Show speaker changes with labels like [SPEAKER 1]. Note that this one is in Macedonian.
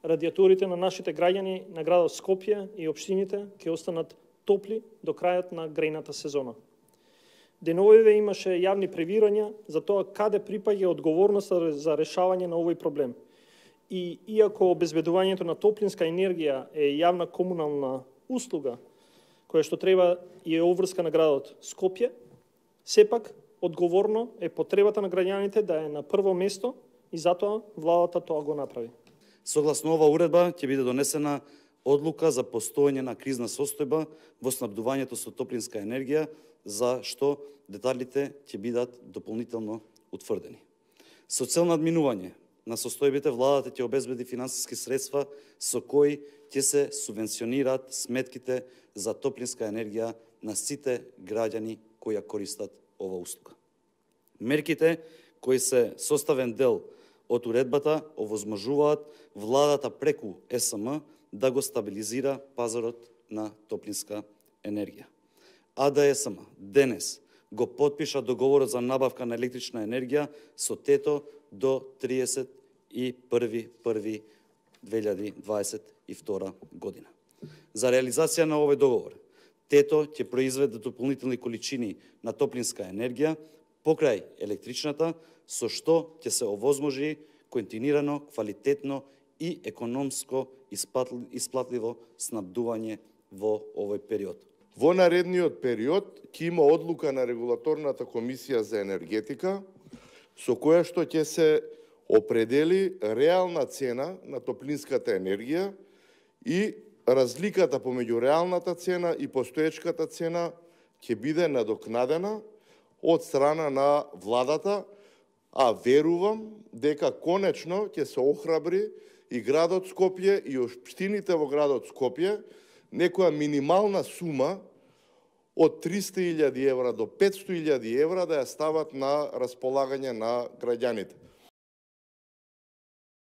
[SPEAKER 1] радиаторите на нашите граѓани на градот Скопје и општините ќе останат топли до крајот на грејната сезона. Деновиве имаше јавни превирања за тоа каде припаѓа одговорноста за решавање на овој проблем. И иако обезбедувањето на топлинска енергија е јавна комунална услуга, која што треба и е обврска на градот Скопје, сепак одговорно е потребата на граѓаните да е на прво место и затоа владата тоа го направи.
[SPEAKER 2] Согласно ова уредба ќе биде донесена одлука за постоење на кризна состојба во снабдувањето со топлинска енергија, за што деталите ќе бидат дополнително утврдени. Со цел надминување на состојбите, владата ќе обезбеди финансиски средства со кои ќе се субвенционираат сметките за топлинска енергија на сите граѓани кои ја користат ова услуга. Мерките кои се составен дел од уредбата овозможуваат владата преку СМ да го стабилизира пазарот на топлинска енергија. АДСМ денес го потпиша договорот за набавка на електрична енергија со ТЕТО до 31.1.2022 година. За реализација на овој договор, ТЕТО ќе произведе дополнителни количини на топлинска енергија покрај електричната, со што ќе се овозможи континуирано, квалитетно и економско исплатливо снабдување во овој период.
[SPEAKER 3] Во наредниот период ќе има одлука на Регулаторната комисија за енергетика, со која што ќе се определи реална цена на топлинската енергија и разликата помеѓу реалната цена и постоечката цена ќе биде надокнадена од страна на владата, а верувам дека конечно ќе се охрабри и градот Скопје и општините во градот Скопје некоја минимална сума од 300.000 евра до 500.000 евра да ја стават на располагање на граѓаните.